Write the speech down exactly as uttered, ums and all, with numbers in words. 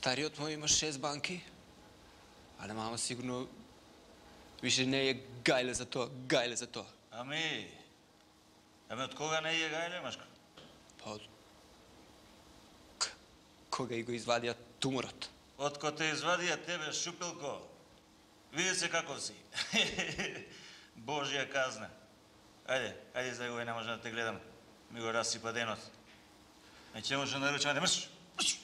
Стариот мој има шест банки, але мама сигурно више не е гајле за тоа, гајле за тоа. Ами, ами од кога не е гајле, Машко? Па од... Кога и го извадија туморот. Од ко те извадија тебе, Шупилко, види се каков си. Божја казна. Ајде, ајде за го не може да те гледам. Ми го расипа денот. Не ќе може да наручаме, мрш, мрш.